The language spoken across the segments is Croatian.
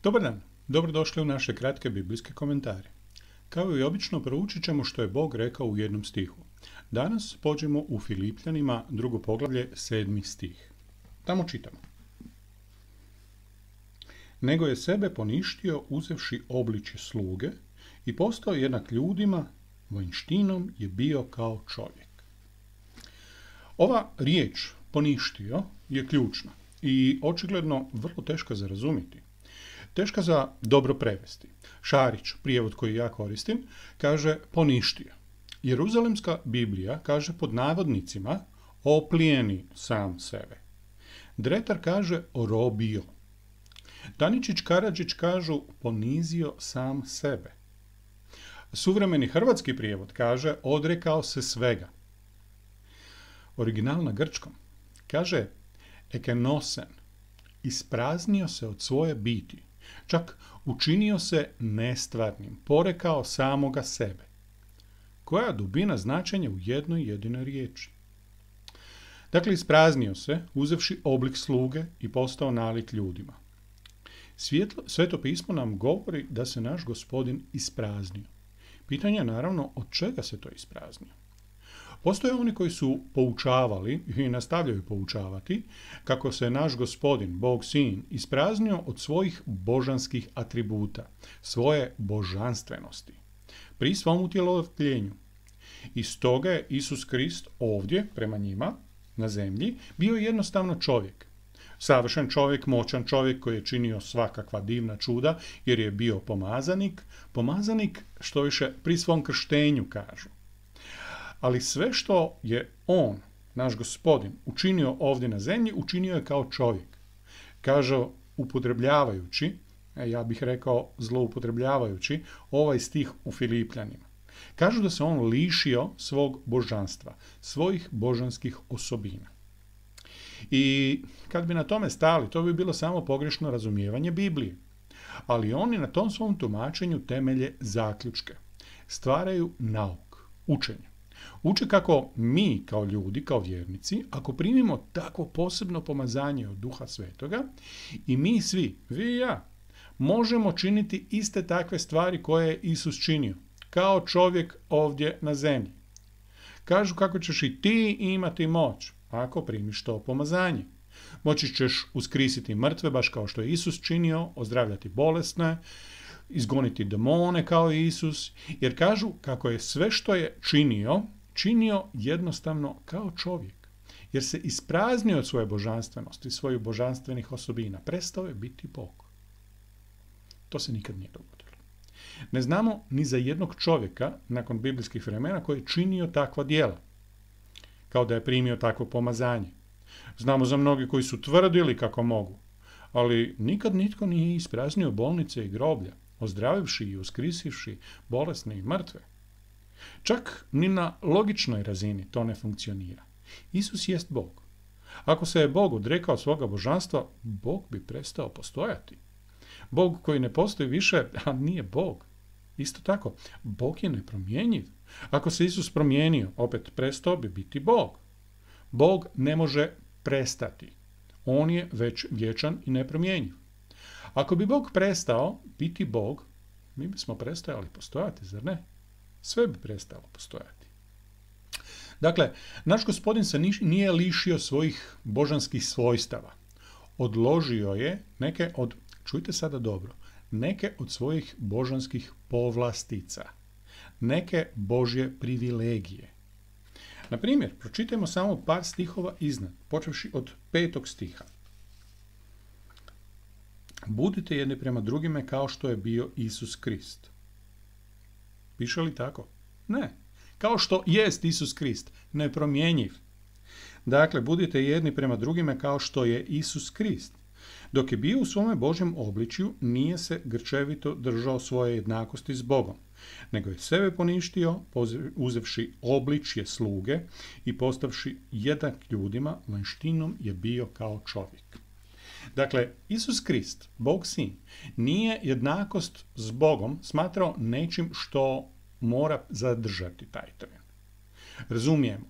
Dobar dan, dobrodošli u naše kratke biblijske komentare. Kao i obično proučit ćemo što je Bog rekao u jednom stihu. Danas pođemo u Filipljanima, 2. poglavlje, 7. stih. Tamo čitamo. Nego je sebe poništio uzevši obličje sluge i postao jednak ljudima, vanjštinom je bio kao čovjek. Ova riječ poništio je ključna i očigledno vrlo teška za razumjeti. Teška za dobro prevesti. Šarić, prijevod koji ja koristim, kaže poništio. Jeruzalemska Biblija kaže pod navodnicima oplijeni sam sebe. Dretar kaže orobio. Daničić Karadžić kažu ponizio sam sebe. Suvremeni hrvatski prijevod kaže odrekao se svega. Original na grčkom kaže ekenosen, ispraznio se od svoje biti, čak učinio se nestvarnim, porekao samoga sebe. Koja dubina značenja u jednoj jedinoj riječi? Dakle, ispraznio se, uzevši oblik sluge i postao nalik ljudima. Sveto pismo nam govori da se naš Gospodin ispraznio. Pitanje je naravno od čega se to ispraznio. Postoje oni koji su poučavali i nastavljaju poučavati kako se naš Gospodin, Bog Sin, ispraznio od svojih božanskih atributa, svoje božanstvenosti, pri svom utjelovljenju. I stoga je Isus Krist ovdje, prema njima, na zemlji, bio jednostavno čovjek. Savršen čovjek, moćan čovjek koji je činio svakakva divna čuda jer je bio pomazanik što više pri svom krštenju kažu. Ali sve što je on, naš Gospodin, učinio ovdje na zemlji, učinio je kao čovjek. Kaže upotrebljavajući, ja bih rekao zloupotrebljavajući, ovaj stih u Filipljanima. Kažu da se on lišio svog božanstva, svojih božanskih osobina. I kad bi na tome stali, to bi bilo samo pogrešno razumijevanje Biblije. Ali oni na tom svom tumačenju temelje zaključke. Stvaraju nauk, učenje. Uče kako mi kao ljudi, kao vjernici, ako primimo takvo posebno pomazanje od Duha Svetoga i mi svi, vi i ja, možemo činiti iste takve stvari koje je Isus činio, kao čovjek ovdje na zemlji. Kažu kako ćeš i ti imati moć ako primiš to pomazanje. Moći ćeš uskrisiti mrtve, baš kao što je Isus činio, ozdravljati bolesne, izgoniti demone kao Isus, jer kažu kako je sve što je činio jednostavno kao čovjek, jer se ispraznio od svoje božanstvenosti, svojih božanstvenih osobina, prestao je biti Bog. To se nikad nije dogodilo. Ne znamo ni za jednog čovjeka nakon biblijskih vremena koji je činio takva djela, kao da je primio takvo pomazanje. Znamo za mnogi koji su tvrdili kako mogu, ali nikad nitko nije ispraznio bolnice i groblja, ozdravivši i uskrisivši bolesne i mrtve. Čak ni na logičnoj razini to ne funkcionira. Isus jest Bog. Ako se je Bog odrekao svoga božanstva, Bog bi prestao postojati. Bog koji ne postoji više, a nije Bog. Isto tako, Bog je nepromjenjiv. Ako se Isus promijenio, opet prestao bi biti Bog. Bog ne može prestati. On je već vječan i nepromjenjiv. Ako bi Bog prestao biti Bog, mi bismo prestajali postojati, zar ne? Sve bi prestalo postojati. Dakle, naš Gospodin se nije lišio svojih božanskih svojstava. Odložio je neke od, čujte sada dobro, neke od svojih božanskih povlastica, neke božje privilegije. Na primjer, pročitajmo samo par stihova iznad, počevši od 5. stiha. Budite jedni prema drugime kao što je bio Isus Krist. Piše li tako? Ne. Kao što jest Isus Krist, nepromjenjiv. Dakle, budite jedni prema drugime kao što je Isus Krist. Dok je bio u svome Božjem obličju, nije se grčevito držao svoje jednakosti s Bogom, nego je sebe poništio, uzevši obličje sluge i postavši jednak ljudima, vanjštinom je bio kao čovjek. Dakle, Isus Krist, Bog Sin, nije jednakost s Bogom smatrao nečim što mora zadržati taj tren. Razumijemo,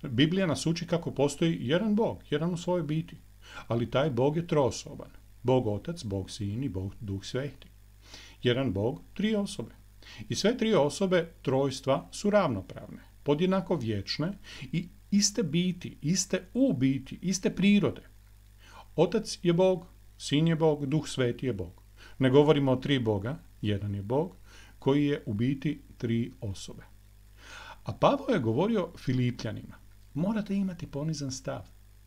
Biblija nas uči kako postoji jedan Bog, jedan u svojoj biti, ali taj Bog je trosoban. Bog Otac, Bog Sin i Bog Duh Sveti. Jedan Bog, tri osobe. I sve tri osobe trojstva su ravnopravne, podjednako vječne i iste biti, iste u biti, iste prirode. Otac je Bog, Sin je Bog, Duh Sveti je Bog. Ne govorimo o tri Boga, jedan je Bog, koji je u biti tri osobe. A Pavao je govorio Filipljanima, morate imati ponizan stav.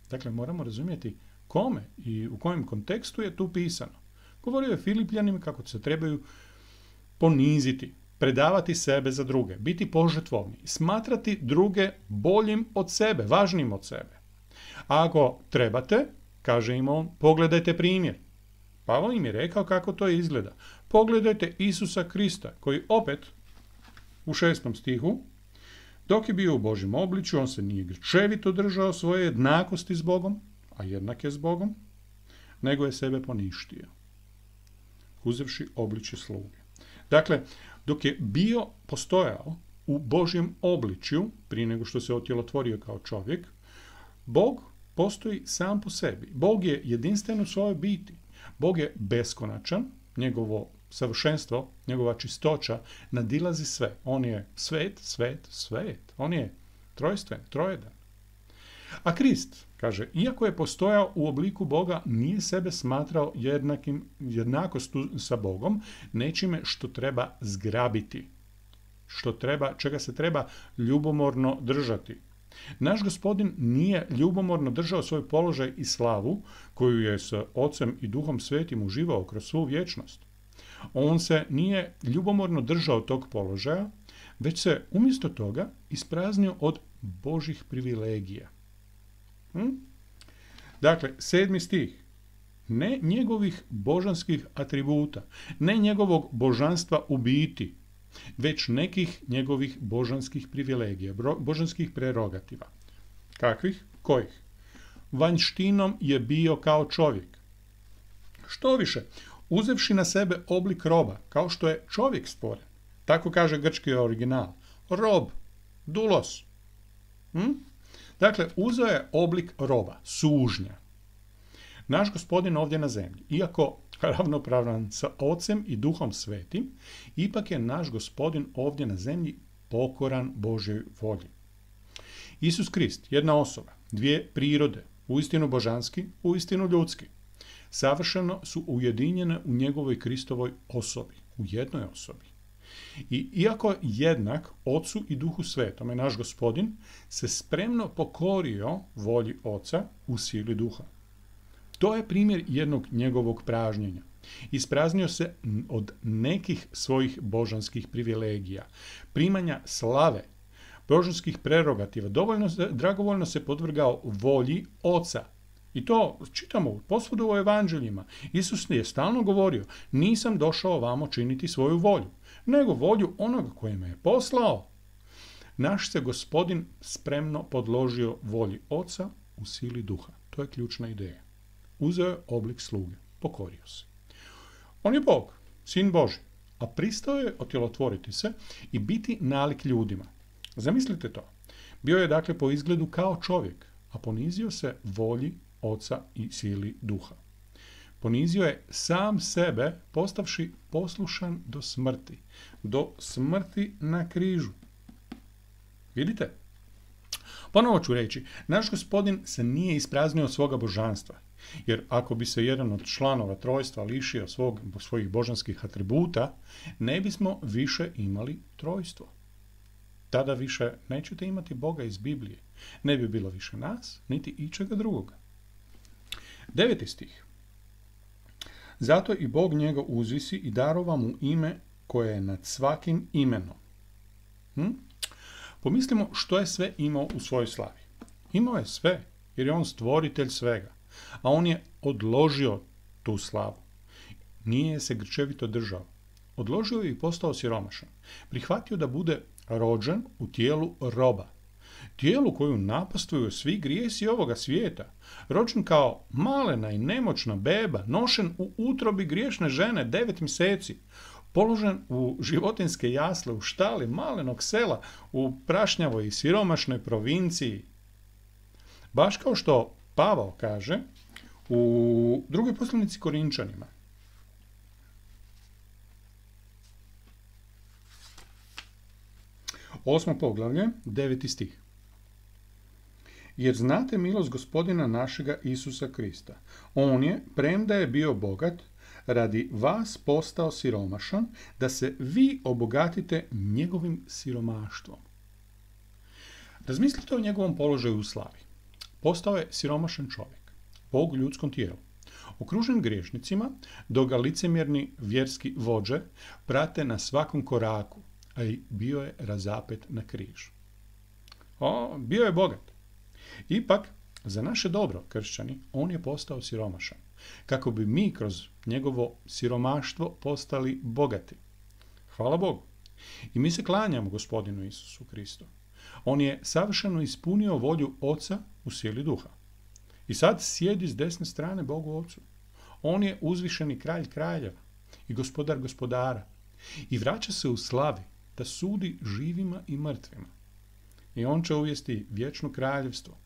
Dakle, moramo razumjeti kome i u kojem kontekstu je tu pisano. Govorio je Filipljanima kako se trebaju poniziti, predavati sebe za druge, biti požrtvovni, smatrati druge boljim od sebe, važnim od sebe. A ako trebate, kaže im on, pogledajte primjer. Pavao im je rekao kako to izgleda. Pogledajte Isusa Krista, koji opet u 6. stihu, dok je bio u Božjem obličju, on se nije grčevito držao svoje jednakosti s Bogom, a jednak je s Bogom, nego je sebe poništio, uzevši obličje sluge. Dakle, dok je postojao u Božjem obličju, prije nego što se otjelotvorio kao čovjek, Bog postoji sam po sebi. Bog je jedinstven u svojoj biti. Bog je beskonačan, njegovo savršenstvo, njegova čistoća nadilazi sve. On je svet, svet, svet. On je trojstven, trojedan. A Krist, kaže, iako je postojao u obliku Boga, nije sebe smatrao jednakost sa Bogom, nečime što treba zgrabiti, čega se treba ljubomorno držati. Naš Gospodin nije ljubomorno držao svoj položaj i slavu koju je s Ocem i Duhom Svetim uživao kroz svu vječnost. On se nije ljubomorno držao tog položaja, već se umjesto toga ispraznio od Božih privilegija. Dakle, 7. stih. Ne njegovih božanskih atributa, ne njegovog božanstva u biti, već nekih njegovih božanskih privilegija, božanskih prerogativa. Kakvih? Kojih? Vanjštinom je bio kao čovjek. Što više, uzevši na sebe oblik roba, kao što je čovjek stvoren. Tako kaže grčki original. Rob, dulos. Dakle, uzeo je oblik roba, sužnja. Naš Gospodin ovdje na zemlji, iako ravnopravan sa Ocem i Duhom Svetim, ipak je naš Gospodin ovdje na zemlji pokoran Božjoj volji. Isus Krist, jedna osoba, dvije prirode, uistinu božanski, uistinu ljudski, savršeno su ujedinjene u njegovoj Kristovoj osobi, u jednoj osobi. I iako jednak Ocu i Duhu Svetome, naš Gospodin se spremno pokorio volji Oca u sili Duha. To je primjer jednog njegovog pražnjenja. Ispraznio se od nekih svojih božanskih privilegija, primanja slave, božanskih prerogativa, dragovoljno se podvrgao volji Oca. I to čitamo posvuda u evanđeljima. Isus je stalno govorio, nisam došao vamo činiti svoju volju, nego volju onoga koji me je poslao. Naš se Gospodin spremno podložio volji Oca u sili Duha. To je ključna ideja. Uzeo je oblik sluge, pokorio se. On je Bog, Sin Božji, a pristao je otjelotvoriti se i biti nalik ljudima. Zamislite to. Bio je dakle po izgledu kao čovjek, a ponizio se volji Oca i sili Duha. Ponizio je sam sebe, postavši poslušan do smrti na križu. Vidite? Ponovo ću reći, naš Gospodin se nije ispraznio svoga božanstva, jer ako bi se jedan od članova trojstva lišio svojih božanskih atributa, ne bismo više imali trojstvo. Tada više nećete imati Boga iz Biblije. Ne bi bilo više nas, niti ičega drugoga. 9. stih. Zato i Bog njega uzvisi i darova mu ime koje je nad svakim imenom. Pomislimo što je sve imao u svojoj slavi. Imao je sve, jer je on stvoritelj svega, a on je odložio tu slavu. Nije se grčevito držao. Odložio je i postao siromašan. Prihvatio da bude rođen u tijelu roba. Tijelu koju napastuju svi grijesi ovoga svijeta. Rođen kao malena i nemoćna beba, nošen u utrobi griješne žene 9 mjeseci. Položen u životinjske jasle u štali malenog sela u prašnjavoj i siromašnoj provinciji. Baš kao što Pavao kaže U drugoj poslanici Korinčanima, 8. poglavlje, 9. stih. Jer znate milost Gospodina našega Isusa Krista. On je, premda je bio bogat, radi vas postao siromašan, da se vi obogatite njegovim siromaštvom. Razmislite o njegovom položaju u slavi. Postao je siromašan čovjek, Bog u ljudskom tijelu, okružen griješnicima, dok ga licemjerni vjerski vođe prate na svakom koraku, a i bio je razapet na križ. Bio je bogat. Ipak, za naše dobro, kršćani, on je postao siromašan, kako bi mi kroz njegovo siromaštvo postali bogati. Hvala Bogu. I mi se klanjamo Gospodinu Isusu Kristu. On je savršeno ispunio volju Oca u sili duha. I sad sjedi s desne strane Bogu Ocu. On je uzvišeni kralj kraljeva i gospodar gospodara. I vraća se u slavi da sudi živima i mrtvima. I on će uvesti vječno kraljevstvo.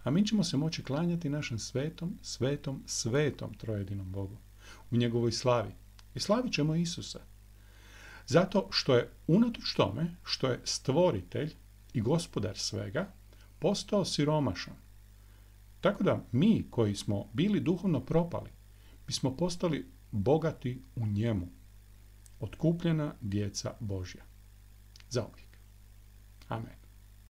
A mi ćemo se moći klanjati našem svetom trojedinom Bogu u njegovoj slavi. I slavit ćemo Isusa. Zato što je unatoč tome što je stvoritelj i gospodar svega postao siromašan. Tako da mi koji smo bili duhovno propali, mi smo postali bogati u njemu. Otkupljena djeca Božja. Zauvijek. Amen.